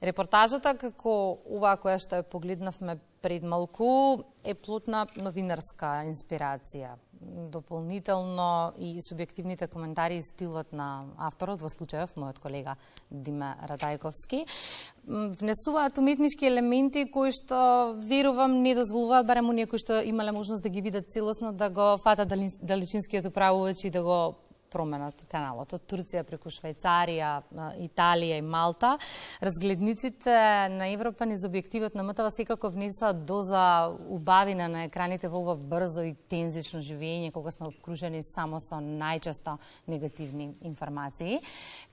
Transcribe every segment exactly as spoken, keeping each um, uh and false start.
Репортажата, како оваа која што ја погледнавме пред малку, е плод на новинарска инспирација. Дополнително и субјективните коментари и стилот на авторот, во случајов мојот колега Диме Радајковски, внесуваат уметнички елементи кои што, верувам, не дозволуваат барем оние кои што имале можност да ги видат целосно, да го фатат далечинскиот управувач и да го променат каналот од Турција преку Швајцарија, Италија и Малта. Разгледниците на Европа низ објективот на МТВ секако внесоа доза убавина на екраните во ова брзо и тензично живење, кога сме обкружени само со најчесто негативни информации.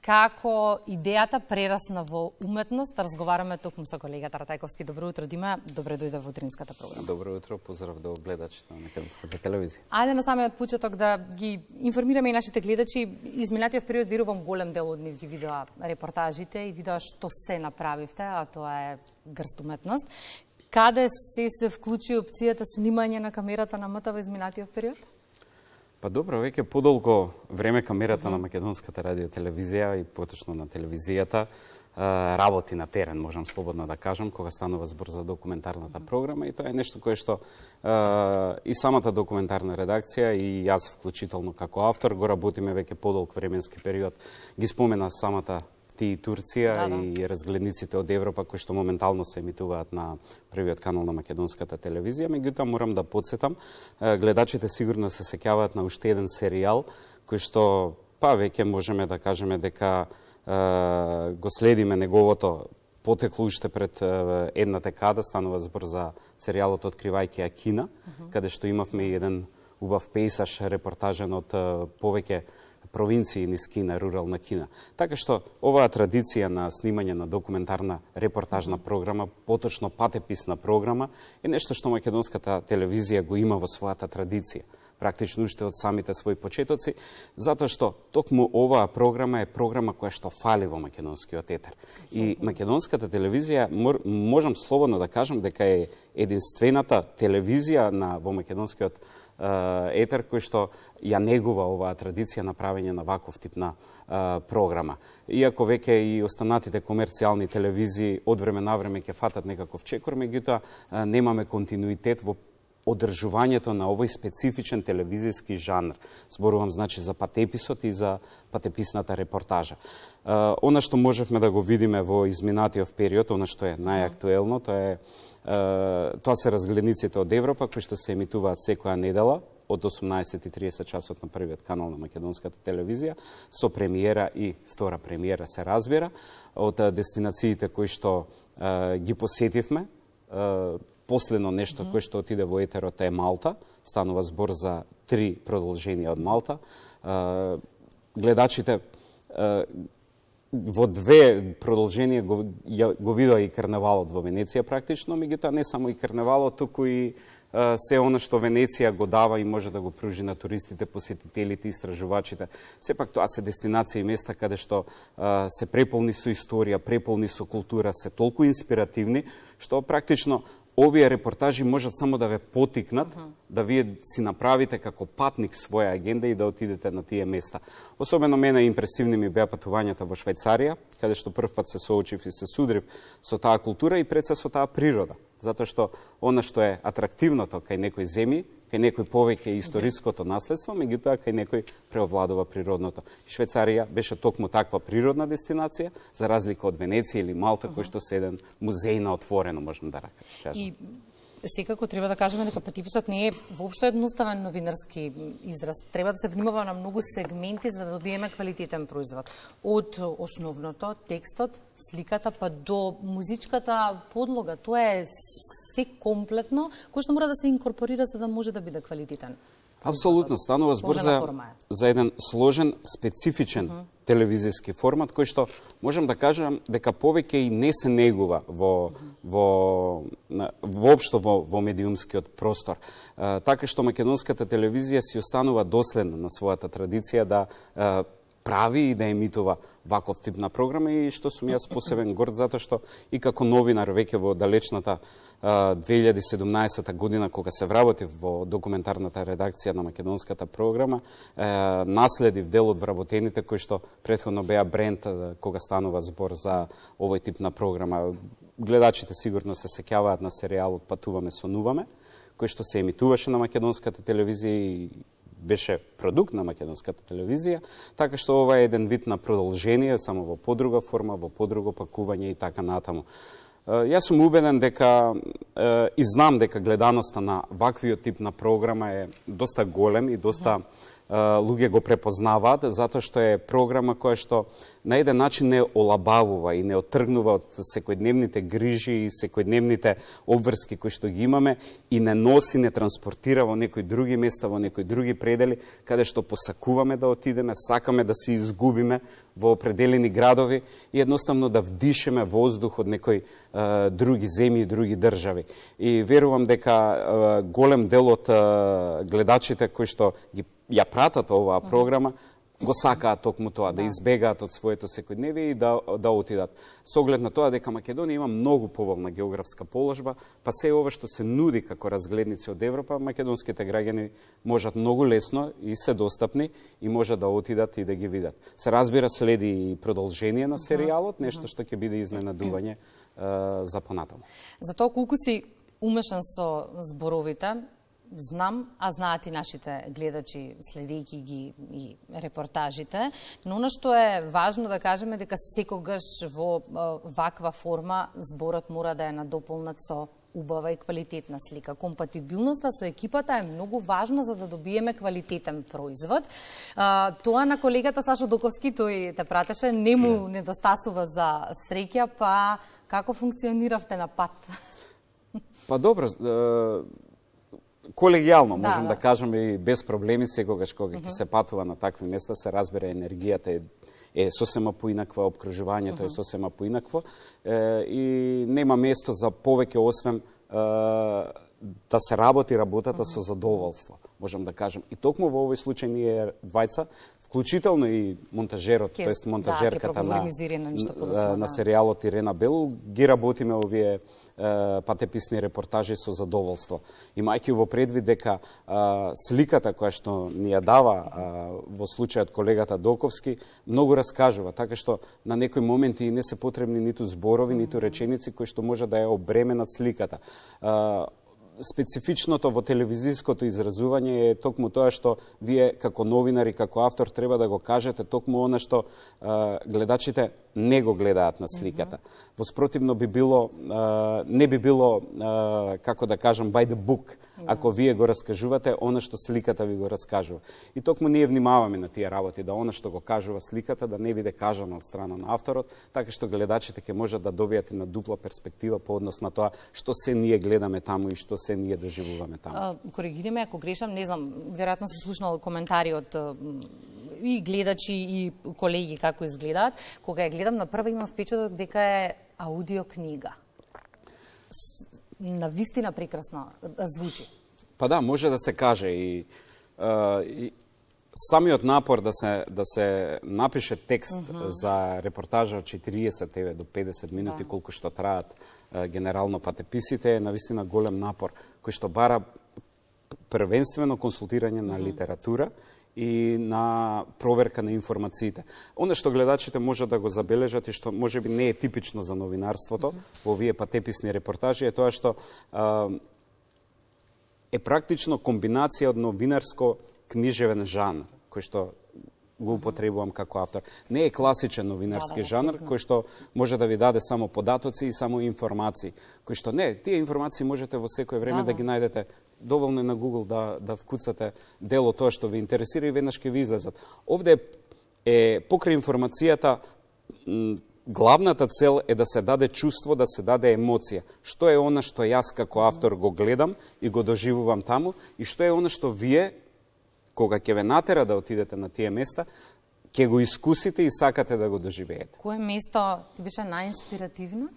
Како идејата прерасна во уметност, разговараме токму со колегата Радајковски. Добро утро, Дима. Добре дојде во утринската програма. Добро утро, поздрав до гледачите на Македонската телевизија. Ајде на самиот почеток да ги информираме и нашите гледачи. Изминатиот период, верувам, голем дел од нив ги видоа репортажите и видоа што се направивте, а тоа е грст уметност. Каде се се вклучи опцијата снимање на камерата на МТВ изминатиот период? Па добро, веќе подолго време камерата mm -hmm. на Македонската радиотелевизија и поточно на телевизијата работи на терен, можам слободно да кажам, кога станува збор за документарната програма, и тоа е нешто кое што и самата документарна редакција и јас вклучително како автор го работиме веќе подолг временски период. Ги спомена самата ти и Турција да, да. и разгледниците од Европа кои што моментално се емитуваат на првиот канал на Македонската телевизија. Меѓутоа морам да потсетам, гледачите сигурно се сеќаваат на уште еден серијал кој што па веќе можеме да кажеме дека го следиме неговото потекло уште пред една декада. Станува збор за серијалот Откривајќи Акина, uh-huh. каде што имавме и еден убав пейсаж репортажен од повеќе провинции низ Кина, рурална Кина. Така што оваа традиција на снимање на документарна репортажна програма, поточно патеписна програма, е нешто што Македонската телевизија го има во својата традиција. Практично уште од самите своји почетоци, затоа што токму оваа програма е програма која што фали во македонскиот етер. И Македонската телевизија, можам слободно да кажам дека е единствената телевизија на во македонскиот етер кој што ја негува оваа традиција на правење на ваков тип на а, програма. Иако веќе и останатите комерцијални телевизии од време на време ќе фатат некаков чекор, меѓутоа немаме континуитет во одржувањето на овој специфичен телевизиски жанр. Зборувам значи за патеписот и за патеписната репортажа. А, она што можевме да го видиме во изминатиот период, она што е најактуелно, тоа е Uh, тоа се разгледниците од Европа кои што се емитуваат секоја недела од осумнаесет и тридесет часот на првиот канал на Македонската телевизија, со премиера и втора премиера се разбира, од дестинациите кои што uh, ги посетивме. Uh, последно нешто mm -hmm. кое што отиде во етерот е Малта, станува збор за три продолженија од Малта. Uh, гледачите uh, во две продолженија го, го видоа и карневалот во Венеција практично, меѓутоа не само и карневалот, туку и а, се она што Венеција го дава и може да го пружи на туристите, посетителите, истражувачите. Сепак тоа се дестинации и места каде што а, се преполни со историја, преполни со култура, се толку инспиративни, што практично овие репортажи можат само да ве потикнат, uh -huh. да вие си направите како патник своја агенда и да отидете на тие места. Особено мене импресивни ми беа патувањата во Швајцарија, каде што прв пат се соочив и се судрив со таа култура и пред се со таа природа. Затоа што она што е атрактивното кај некои земји, кај некој повеќе историското наследство, меѓутоа кај некој преовладува природното. Швајцарија беше токму таква природна дестинација, за разлика од Венеција или Малта, кој што се еден музеј на отворено, можам да кажам. И секако треба да кажеме дека патеписот не е воопшто едноставен новинарски израз. Треба да се внимава на многу сегменти за да добиеме квалитетен производ. Од основното, текстот, сликата, па до музичката подлога. Тоа е се комплетно, кој што мора да се инкорпорира за да може да биде квалитетен. Апсолутно, станува збор за, за еден сложен, специфичен uh -huh. телевизиски формат, кој што можам да кажам дека повеќе и не се негува во, uh -huh. во, воопшто во, во медиумскиот простор. А, така што Македонската телевизија си останува доследна на својата традиција да а, прави и да емитува ваков тип на програма и што сум јас посебен горд затоа што и како новинар веќе во далечната две илјади и седумнаесета година кога се вработив во документарната редакција на македонската програма, наследив дел од вработените кои што претходно беа бренд кога станува збор за овој тип на програма. Гледачите сигурно се сеќаваат на серијалот Патуваме, сонуваме, кој што се емитуваше на македонската телевизија и беше продукт на македонската телевизија, така што ова е еден вид на продолжение, само во подруга форма, во подруго пакување и така натаму. Јас сум убеден дека и знам дека гледаноста на ваквиот тип на програма е доста голем и доста луѓе го препознаваат, затоа што е програма која што на еден начин не олабавува и не оттргнува од секојдневните грижи и секојдневните обврски кои што ги имаме и не носи, не транспортира во некои други места, во некои други предели, каде што посакуваме да отидеме, сакаме да се изгубиме во определени градови и едноставно да вдишеме воздух од некои е, други земји и други држави. И верувам дека е, голем дел од е, гледачите кои што ги ја пратат оваа програма, го сакаат токму тоа, да избегаат од своето секојдневие и да, да отидат. Со оглед на тоа дека Македонија има многу поволна географска положба, па се ова што се нуди како разгледници од Европа, македонските граѓани можат многу лесно и се достапни и можат да отидат и да ги видат. Се разбира, следи и продолжение на серијалот, нешто што ќе биде изненадување uh, за понатаму. За тоа колку си умешан со зборовите, знам, а знаат и нашите гледачи, следејќи ги и репортажите, но она што е важно да кажеме дека секогаш во ваква форма зборот мора да е надополнат со убава и квалитетна слика. Компатибилноста со екипата е многу важна за да добиеме квалитетен производ. А, тоа на колегата Сашо Доковски, тој те пратеше, не му недостасува за среќа, па како функциониравте на пат? Па добро, колегијално, можем да, да. да кажеме и без проблеми, секогаш кога ќе uh -huh. се патува на такви места, се разбере енергијата е, е сосема поинаква, обкружувањето uh -huh. е сосема поинакво е, и нема место за повеќе освен е, да се работи работата uh -huh. со задоволство, можем да кажем. И токму во овој случај ние двајца, вклучително и монтажерот, Ке, тоест монтажерката да, на, на, на серијалот Ирена Белу, ги работиме овие патеписни репортажи со задоволство. Имајќи во предвид дека а, сликата која што ни ја дава а, во случајот колегата Доковски многу раскажува, така што на некои моменти не се потребни ниту зборови, ниту реченици кои што може да ја обременат сликата. А, специфичното во телевизиското изразување е токму тоа што вие како новинари, како автор треба да го кажете токму она што а, гледачите не го гледаат на сликата. Mm-hmm. Воспротивно би било а, не би било а, како да кажам by the book, yeah. ако вие го раскажувате она што сликата ви го раскажува. И токму ние внимаваме на тие работи да она што го кажува сликата да не биде кажано од страна на авторот, така што гледачите ќе можат да добијат на дупла перспектива по однос на тоа што се ние гледаме таму и што се ние доживуваме таму. А, коригири ме ако грешам, не знам, веројатно се слушнал коментари од и гледачи и колеги како изгледаат. Кога ја гледам на прва имам впечаток дека е аудиокнига. На вистина прекрасно звучи. Па да, може да се каже и, а, и самиот напор да се да се напише текст mm -hmm. за репортажа од четириесет до педесет минути да. колку што траат а, генерално патеписите е навистина голем напор кој што бара првенствено консултирање на mm -hmm. литература и на проверка на информациите. Оно што гледачите може да го забележат и што можеби не е типично за новинарството mm -hmm. во овие патеписни репортажи е тоа што а, е практично комбинација од новинарско книжевен жанр, кој што го употребувам како автор. Не е класичен новинарски да, да, жанр, кој што може да ви даде само податоци и само информации. Кој што не, тие информации можете во секое време да, да ги најдете. Доволно е на Google да, да вкуцате дело тоа што ви интересира и веднаш ќе ви излезат. Овде е, покрај информацијата, главната цел е да се даде чувство, да се даде емоција. Што е она што јас како автор го гледам и го доживувам таму и што е она што вие, кога ќе ве натера да отидете на тие места, ќе го искусите и сакате да го доживеете. Кое место ти беше најинспиративно?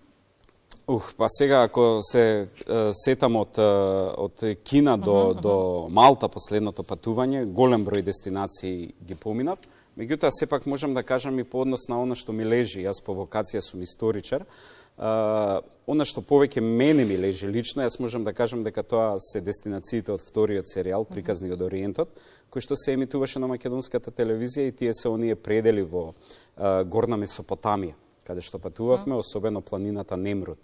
Ух, па сега ако се е, сетам од од Кина до uh -huh, до Малта последното патување, голем број дестинации ги поминав, Меѓутоа, сепак можам да кажам и по однос на она што ми лежи, јас по вокација сум историчар, Uh, она што повеќе мене ми лежи лично, јас можам да кажам дека тоа се дестинациите од вториот серијал, Приказни од Ориентот, кој што се емитуваше на македонската телевизија и тие се оние предели во uh, Горна Месопотамија, каде што патувавме, особено планината Немрут,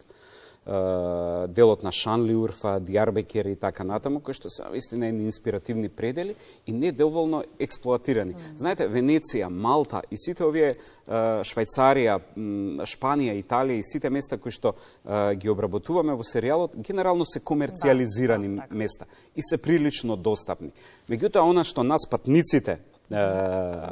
uh, делот на Шанлиурфа, Дијарбекер и така натаму, кои што се вистина едни инспиративни предели и не доволно експлоатирани. Mm. Знаете, Венеција, Малта и сите овие uh, Швајцарија, Шпанија, Италија и сите места кои што uh, ги обработуваме во серијалот, генерално се комерцијализирани да, да, места и се прилично достапни. Меѓутоа, она што нас патниците uh,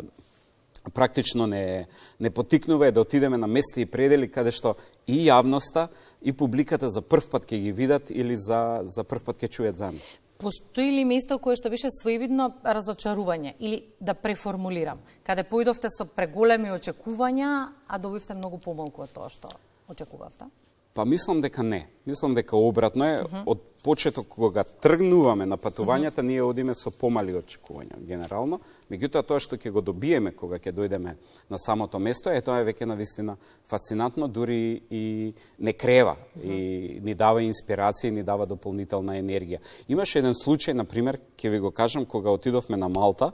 практично не, не потикнува е да отидеме на места и предели каде што и јавноста и публиката за прв пат ќе ги видат или за, за прв пат ќе чујат за нив. Постои ли место кое што беше своевидно разочарување или да преформулирам, каде поидовте со преголеми очекувања, а добивте многу помалку од тоа што очекувавте? Па мислам дека не. Мислам дека обратно е. Uh -huh. Од почеток кога тргнуваме на патувањата, uh -huh. ние одиме со помали очекувања генерално. Меѓутоа тоа што ќе го добиеме кога ќе дојдеме на самото место, е тоа е веќе навистина фасцинатно, дури и не крева uh -huh. и ни дава инспирација, ни дава дополнителна енергија. Имаше еден случај, на пример, ќе ви го кажам, кога отидовме на Малта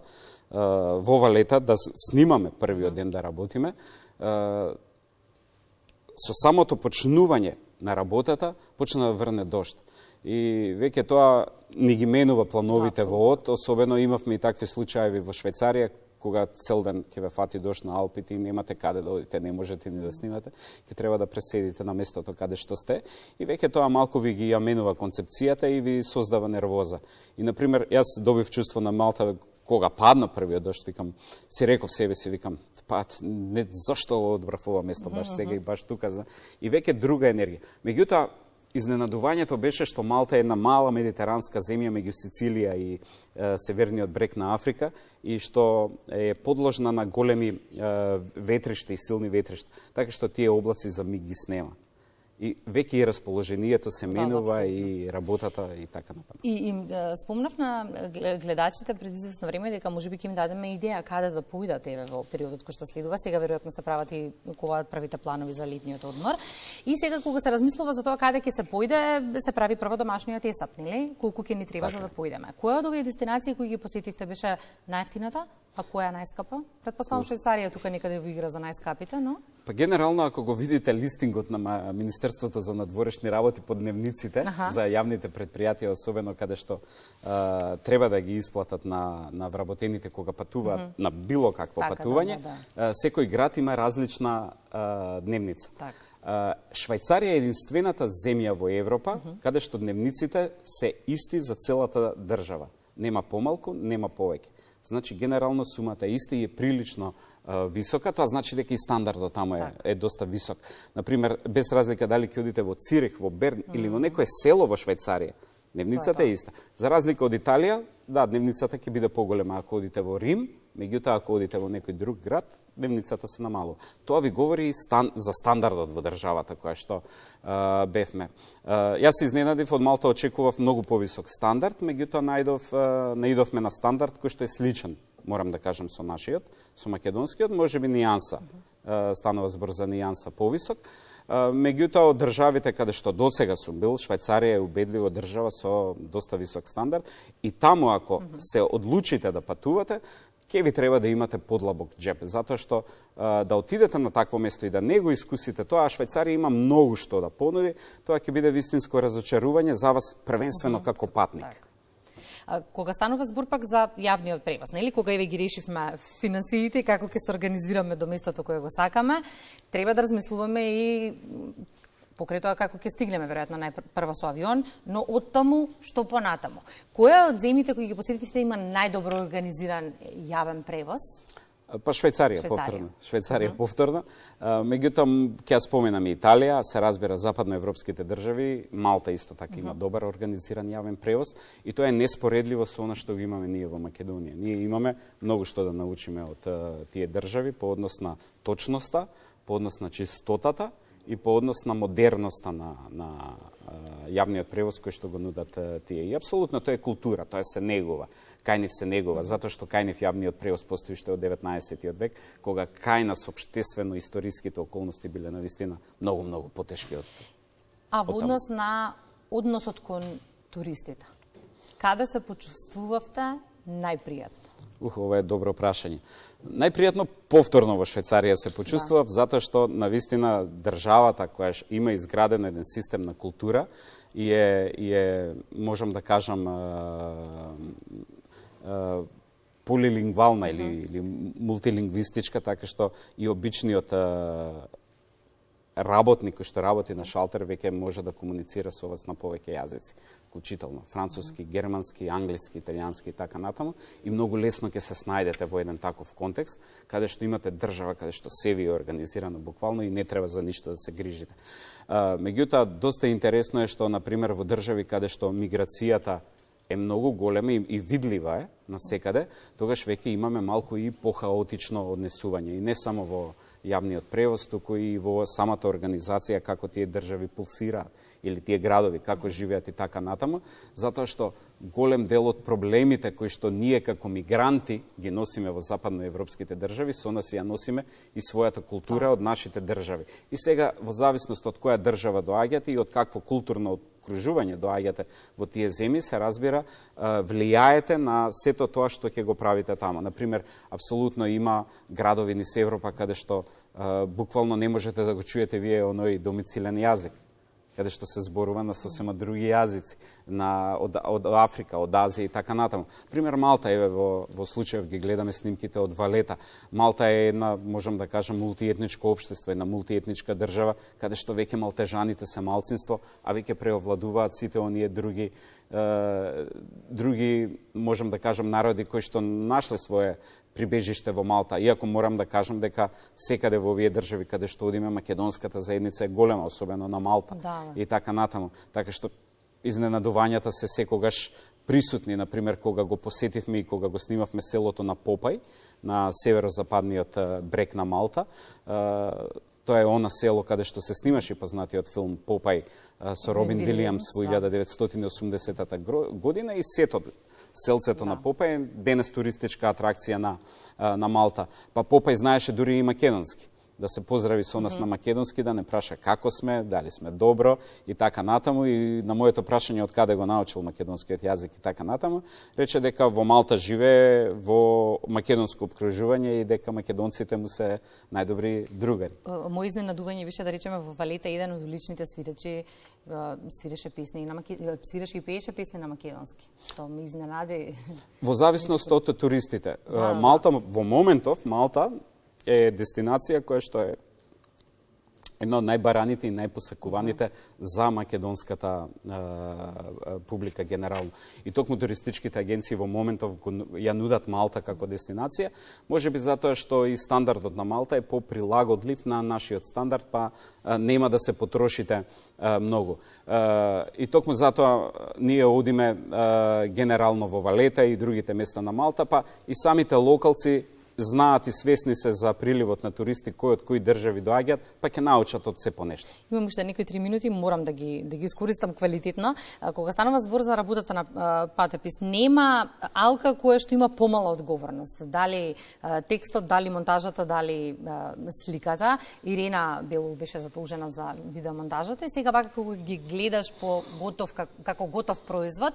во ова лета да снимаме првиот ден да работиме. Со самото почнување на работата, почна да врне дожд. И веќе тоа ни ги менува плановите да, во од, особено имавме и такви случаи во Швајцарија, кога цел ден ќе ве фати дожд на Алпите и немате каде да одите, не можете ни да снимате, ќе треба да преседите на местото каде што сте. И веќе тоа малку ви ги ја менува концепцијата и ви создава нервоза. И, например, јас добив чувство на Малта, кога падна првиот дожд, викам, си реков себе си, викам, па, не, зашто одбрав ова место баш сега и баш тука, за... и веќе друга енергија. Меѓутоа, изненадувањето беше што Малта е една мала медитеранска земја меѓу Сицилија и е, северниот брег на Африка и што е подложна на големи е, ветришта и силни ветришта, така што тие облаци за миг ги снема. И веќе и расположението се менува, да, и работата и така натаму. И им спомнав на гледачите пред известно време дека можеби ќе им дадеме идеја каде да поидат еве во периодот кој што следува. Сега веројатно се прават и кога правите планови за летниот одмор. И сега кога се размислува за тоа каде ќе се поиде, се прави прво домашниот есап, нели? Колку ќе ни треба така за да поидеме. Која од овие дестинации кои ги посетивте беше најевтината, а која најскапа? Предпоставам Швајцарија тука некаде во игра за најскапите, но па генерално ако го видите листингот на Министерството за надворешни работи по дневниците Аха. за јавните предпријатија, особено каде што а, треба да ги исплатат на на вработените кога патуваат mm -hmm. на било какво така, патување, да, да. секој град има различна а, дневница. Така. А, Швајцарија е единствената земја во Европа mm -hmm. каде што дневниците се исти за целата држава. Нема помалку, нема повеќе. Значи, генерално сумата е иста и е прилично а, висока, тоа значи дека и стандардот таму е, е доста висок. Например, без разлика дали ќе одите во Цирих, во Берн mm -hmm. или во некое село во Швајцарија, дневницата е иста. За разлика од Италија, да, дневницата ќе биде поголема ако одите во Рим, меѓутоа ако одите во некој друг град, дневницата се намалува. Тоа ви говори и стан, за стандардот во државата која што а, бевме. А, јас се изненадив, од Малта очекував многу повисок стандард, меѓутоа најдов, а, наидовме на стандард кој што е сличен, морам да кажам, со нашиот, со македонскиот, можеби нијанса, а, станува збор за нијанса повисок. Меѓутоа, од државите каде што досега сум бил, Швајцарија е убедливо држава со доста висок стандард и таму ако mm -hmm. се одлучите да патувате, ќе ви треба да имате подлабок џеп, затоа што а, да отидете на такво место и да не го искусите тоа, а Швајцарија има многу што да понуди, тоа ќе биде вистинско разочарување за вас првенствено mm -hmm. како патник. Так. А, кога станува збор пак за јавниот превоз, нели, кога еве ги решивме финансиите и како ќе се организираме до местото кое го сакаме, треба да размислуваме и покрај тоа како ќе стигнеме веројатно најпрво со авион, но оттаму што понатаму. Која од земјите кои ги посетивте има најдобро организиран јавен превоз? Па Швајцарија, Швајцарија. повторно. Швајцарија, uh -huh. повторно. Меѓутоа, ќе ја споменам и Италија, се разбира западноевропските држави, Малта исто така uh -huh. има добар организиран јавен превоз и тоа е неспоредливо со она што го имаме ние во Македонија. Ние имаме многу што да научиме од тие држави по однос на точноста, по однос на чистотата и по однос на модерноста на, на јавниот превоз кој што го нудат тие. И апсолутно тоа е култура, тоа се негува. Кај нив се негува, затоа што кај нив јавниот превоз постои уште од деветнаесеттиот век, кога кај нас општествено-историските околности биле навистина многу, многу потешки од... А во однос на односот кон туристите, каде се почувствувавте најпријатно? Ух, ова е добро прашање. Најпријатно повторно во Швајцарија се почувствував, да. Затоа што навистина државата која има изграден еден систем на култура и е, и е можам да кажам, полилингвална или, или мултилингвистичка, така што и обичниот работник кој што работи на шалтер веќе може да комуницира со вас на повеќе јазици, вклучително француски, германски, англиски, италијански и така натаму, и многу лесно ќе се снајдете во еден таков контекст, каде што имате држава, каде што се ви е организирано буквално и не треба за ништо да се грижите. Меѓутоа, доста интересно е што, например, во држави каде што миграцијата е многу голема и, и видлива е насекаде, тогаш веќе имаме малку и похаотично однесување. И не само во јавниот превоз, туку и во самата организација, како тие држави пулсираат, или тие градови, како живеат и така натаму, затоа што голем дел од проблемите кои што ние како мигранти ги носиме во западноевропските држави, со нас ја носиме и својата култура од нашите држави. И сега, во зависност од која држава доаѓате и од какво културно окружување доаѓате во тие земји, се разбира, влијаете на сето тоа што ќе го правите тамо. Например, апсолутно има градови низ Европа каде што буквално не можете да го чуете вие оној домицилен јазик, каде што се зборува на сосема други јазици, на, од, од Африка, од Азија и така натаму. Пример, Малта, еве, во, во случајов ги гледаме снимките од Валета. Малта е една, можам да кажам, мултиетничко општество, една мултиетничка држава, каде што веќе малтежаните се малцинство, а веќе преовладуваат сите оние други, е, други, можам да кажам, народи кои што нашле свое прибежиште во Малта, иако морам да кажам дека секаде во овие држави каде што одиме, македонската заедница е голема, особено на Малта, да, и така натаму. Така што изненадувањата се секогаш присутни, например, кога го посетивме и кога го снимавме селото на Попај, на северозападниот брег на Малта. Тоа е она село каде што се снимаше познатиот филм Попај со Робин Вилијамс во илјада деветстотини и осумдесетата година, и сето селцето, да, на Попај, денес туристичка атракција на, на Малта. Па Попај знаеше дури и македонски. Да се поздрави со нас mm -hmm. на македонски, да не праша како сме, дали сме добро и така натаму. И на моето прашање од каде го научил македонскиот јазик и така натаму, рече дека во Малта живее во македонско обкружување и дека македонците му се најдобри другари. Мој изненадување беше, да речеме, во Валета еден од уличните свиречи свиреше песни и на маке... свиреше и пееше песни на македонски. Тоа ме изненади. Во зависност од туристите. Да, Малта во моментов Малта е дестинација која што е една од најбараните и најпосекуваните за македонската е, публика генерално. И токму туристичките агенции во моментов ја нудат Малта како дестинација, можеби затоа што и стандардот на Малта е поприлагодлив на нашиот стандард, па е, нема да се потрошите е, многу. Е, и токму затоа ние одиме е, генерално во Валета и другите места на Малта, па и самите локалци знаат и свесни се за приливот на туристи кои од кои држави доаѓаат, па ќе научат од се понешто. Имам уште некои три минути, морам да ги да ги искористам квалитетно. Кога станува збор за работата на патепис, нема алка која што има помала одговорност. Дали текстот, дали монтажата, дали сликата. Ирена Белул беше задолжена за видеомонтажата и сега вака кога ги гледаш по готов како готов производ,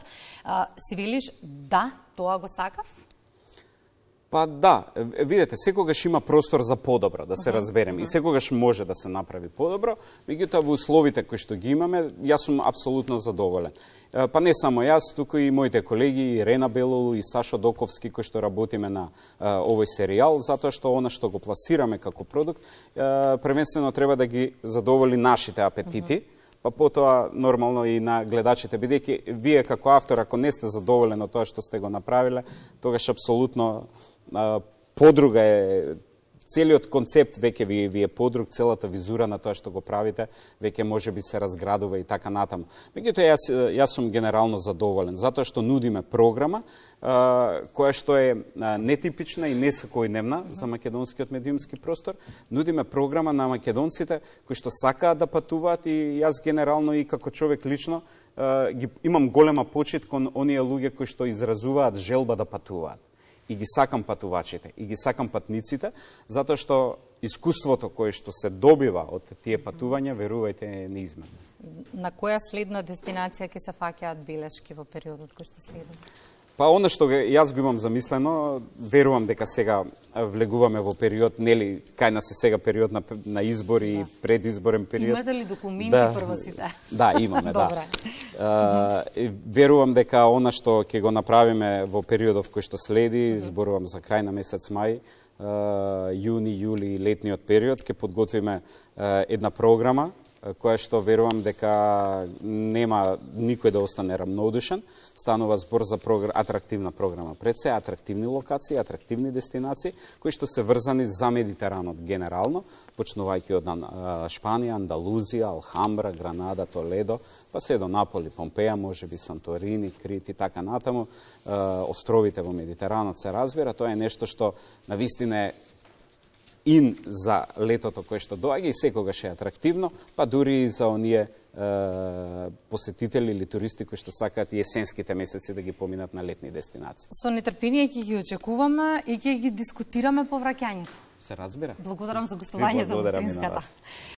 си велиш да, тоа го сакав? Па да, видете, секогаш има простор за подобро, да се uh -huh, разбереме, uh -huh. и секогаш може да се направи подобро, меѓутоа во условите кои што ги имаме, јас сум апсолутно задоволен. Па не само јас, туку и моите колеги, Ирена Белолу и Сашо Доковски, кои што работиме на а, овој серијал, затоа што она што го пласираме како продукт, а, првенствено треба да ги задоволи нашите апетити, uh -huh. па потоа нормално и на гледачите, бидејќи вие како автор, ако не сте задоволен од тоа што сте го направиле, тогаш апсолутно подруга е целиот концепт веќе ви, ви е подруг, целата визура на тоа што го правите, веќе може би се разградува и така натаму. Меѓутоа, јас, јас сум генерално задоволен, затоа што нудиме програма а, која што е а, нетипична и несекојдневна за македонскиот медиумски простор. Нудиме програма на македонците кои што сакаат да патуваат и јас генерално и како човек лично а, ги, имам голема почит кон оние луѓе кои што изразуваат желба да патуваат. И ги сакам патувачите, и ги сакам патниците, затоа што искуството кое што се добива од тие патувања, верувајте, е неизменно. На која следна дестинација ќе се фаќаат белешки во периодот кој што следува? Па оно што јас го имам замислено, верувам дека сега влегуваме во период, нели, кај нас е сега период на, на избори и предизборен период. Имате ли документи да, прво сите? Да, имаме, да. Uh, верувам дека она што ќе го направиме во периодов кој што следи, зборувам за крај на месец мај, uh, јуни, јули, летниот период, ќе подготвиме uh, една програма која што верувам дека нема никој да остане рамнодушен. Станува збор за прогр... атрактивна програма пред се, атрактивни локации, атрактивни дестинации, кои што се врзани за Медитеранот генерално, почнувајќи од Шпанија, Андалузија, Алхамбра, Гранада, Толедо, па се до Наполи, Помпеја, можеби Санторини, Крит и така натаму. Островите во Медитеранот се разбира, тоа е нешто што навистина е ин за летото кое што доаѓа и секогаш е атрактивно, па дури и за оние е, посетители или туристи кои што сакаат и есенските месеци да ги поминат на летни дестинации. Со нетрпение ќе ги очекуваме и ќе ги дискутираме по враќањето. Се разбира. Благодарам за гостувањето во Утринската.